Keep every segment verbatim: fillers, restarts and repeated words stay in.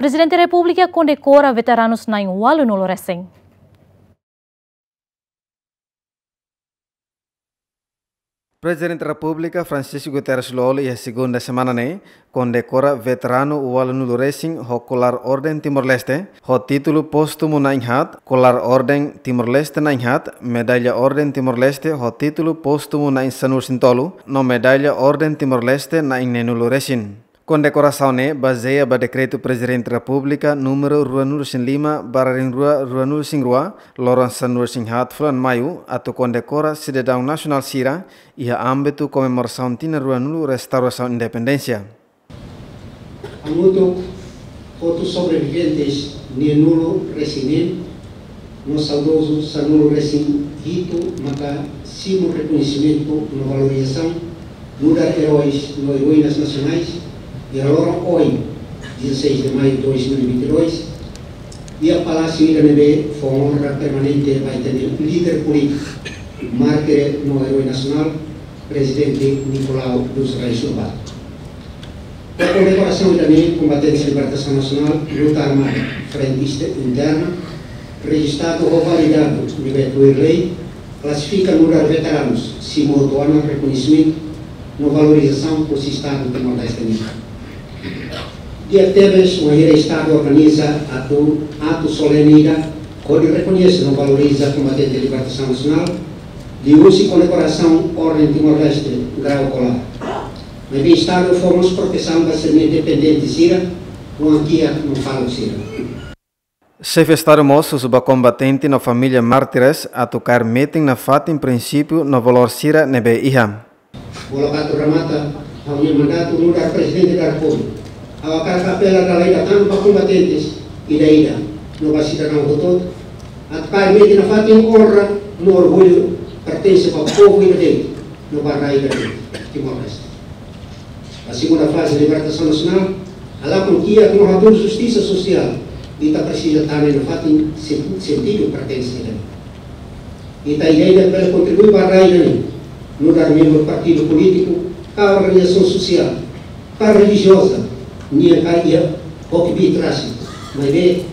Prezidente Repúblika kondekora veteranus na'in ualunulu resin. Prezidente Repúblika Francisco Guterres Lú-Olo iha segunda semana ne'e kondekora veteranu ualunulu resin ho kolar Orden Timor-Leste ho títulu póstumu na'in haat, kolar Orden Timor-Leste na'in haat, medalla Orden Timor-Leste ho títulu póstumu na'in sanulu resin tolu, no medalla Orden Timor-Leste na'in neenulu resin. Kondekorasaun ne'e bazeia ba dekretu Prezidente Repúblika númeru ruanulu resin lima barra rinrua ruanulu resin rua, loron sanulu resin haat fulan Maiu, atu kondekora sidadaun nasionál sira iha ámbitu komemorasaun tinan ruanulu restaurasaun independénsia. Hamutuk hotu sobreviventes neenulu resin neen no saudozu sanulu resin hitu maka simu rekoñesimentu no valorizasaun nu'udar eróis no eroínas nasionais iha loron ohin, dezasseis de maio de dois mil e vinte e dois, iha palásiu ida ne'ebé fó onra permanente ba ita-nia líder polítiku, mártir no erói nasionál, Prezidente Nicolau dos Reis Lobato. Ba kondekorasaun ida-ne'e, kombatentes libertasaun nasionál, luta armada, frentista interna, rejistadu ho validadu nivel tuir lei, klasifika nu'udar veteranus, simu hotu ona rekoñesimentu no valorizasaun husi Estadu Timor-Leste nian. Di'ak tebes wainhira Estadu organiza atu, atu solene ida hodi rekoñese no valoriza kombatente libertasaun nasionál, liuhusi kondekorasaun Orden Timor-Leste grau kolar. Maibé Estadu fó mós protesaun ba sira-nia dependente sira, oan kiak no faluk sira. Xefe Estadu mós husu ba kombatente no família mártires atu kaer metin nafatin prinsípiu no valór sira ne'ebé iha. Bola katu ramata, ha'u-nia mandatu nu'udar Prezidente da Repúblika. Ha'u hakarak apela dala ida tan ba kombatentes ida-ida no ba sidadaun hotu-hotu atu kaer metin nafatin onra no orgullu pertense ba povu ida de'it no ba rai ida de'it, Timor-Leste. Ba segunda faze libertasaun nasionál, halakon kiak no hatudu justisa sosiál, ita presiza tane nafatin sen-, sentidu pertense ida. Ita ida-idak bele kontribui ba rai ida-ne'e, nu'udar membru partidu polítiku, ka organizasaun sosiál, ka relijioza, nian ka iha ho kbiit rasik, maibé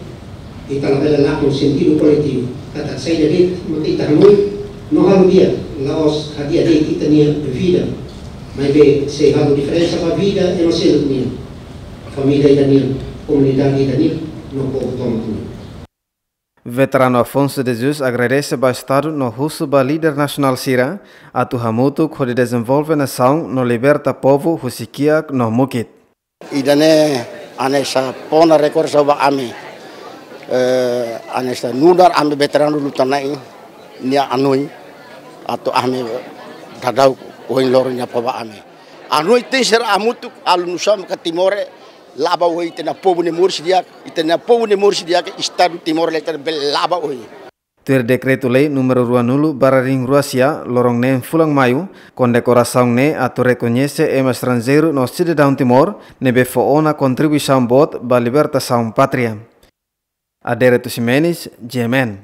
ita labele lakon sentidu koletivu, katak saida de'it mak ita hanoin no halo di'ak, la'ós hadi'a de'it ita-nia vida, maibé sei halo diferensa ba vida ema seluk nian, família ida nian, komunidade ida nian, no povu tomak nian. Veteranu Afonso de Jesus agradese ba Estadu no husu ba líder nasionál sira atu hamutuk hodi dezenvolve nasaun no liberta povu husi kiak no mukit. Ida-ne'e hanesan fó ona rekordasaun ba ami, eh, hanesan nu'udar ami veteranu luta na'in nia hanoin atu ami daudaun ohin loron nia fó ba ami. Hanoin tenke ser hamutuk, halo nusá maka Timor ne'e la'o ba oin, ita-nia povu ne'e moris di'ak, ita-nia povu ne'e moris di'ak, Estadu Timor-Leste bele la'o ba oin. Tuir Dekretu-Lei númeru ruanulu barra rinrua sia, loron neen fulan Maiu, kondekorasaun ne'e atu rekoñese ema estranjeiru no sidadaun Timor ne'ebé fó ona kontribuisaun boot ba libertasaun pátria. Adérito Ximenes, G M N.